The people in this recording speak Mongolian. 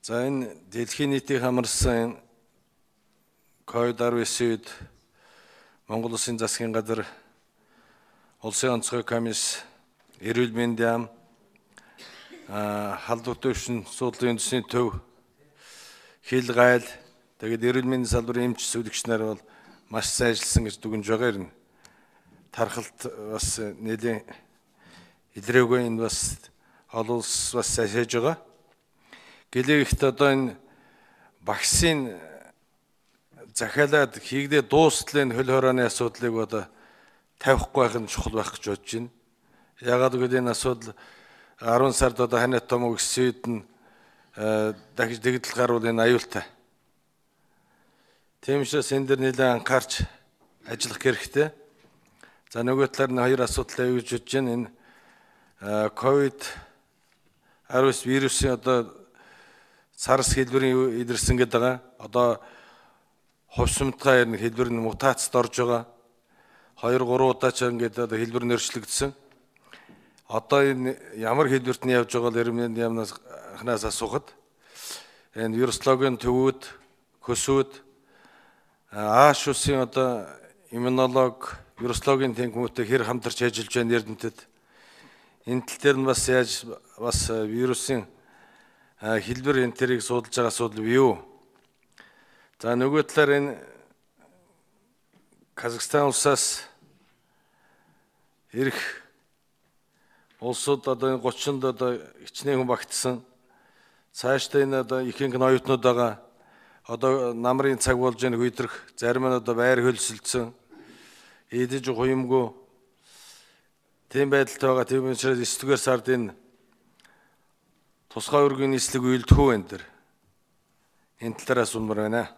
За энэ дэлхийн нийтийг хамарсан COVID-19-д Монгол Улсын засгийн газар, Улсын онцгой комисс, эрүүл мэндийн яам, халдвар төвшин суудлын үндэсний төв, хил гайл, тэгээд эрүүл мэндийн салбарын эмч сүлэгч нар бол маш сайн ажилласан гэж дүгнж байгаа юм. Тархалт бас нэлийн илрээгүй, энэ бас олон улс бас сайжиж байгаа. Гэлээвэхт одоо энэ вакцин захиалаад хийгдээ дуустал энэ хөл хорооны асуудлыг одоо тавихгүй байх нь чухал байх гэж бодож байна. Яагаад гэвэл энэ асуудал 10 сард одоо ханиад томог өсөйд нь дахиж дэгдэл гарвал энэ аюултай. Тийм учраас энэ дэр нэлээд анхаарч ажиллах хэрэгтэй. За нөгөө талаар нь хоёр асуудал аюулж бодож байна. Энэ COVID-19 вирусын одоо SARS хэлбэрийн илэрсэн гэдэг байгаа. Одоо хувьсамтгай хэлбэр нь мутацид орж байгаа. 2-3 удаа ч ингээд одоо хэлбэр нь өөрчлөгдсөн. Одоо энэ ямар хэлбэрт нь явж байгаа л эрмэнд ямнаас асуухад энэ вирусологийн төвүүд, хөсүүд, Ааш улсын одоо иммунолог, вирусологийн тэнхимтэй хэр хамтарч ажиллаж байна Эрдэнэтэд. Энэ тал дээр нь бас яаж бас вирусын хэлбэр энэ тэрийг судалж байгаа асуудал юу? За нөгөө талаар энэ Казахстан улсаас ирэх улсууд одоо энэ 30-нд одоо хичнээн хүн багтсан. Цаашдаа энэ одоо ихэнх нь оюутнууд байгаа. Одоо намрын цаг болж энэ хөйдрөх, зарим нь одоо байр хөлсөлдсөн. Идэж хуймгүй. Тийм байдалтай байгаа. Тийм учраас 9-р сард энэ тусгай өргөний нислэг үйлдэх үү энэ төр. Энэ талаас үнмэр байна.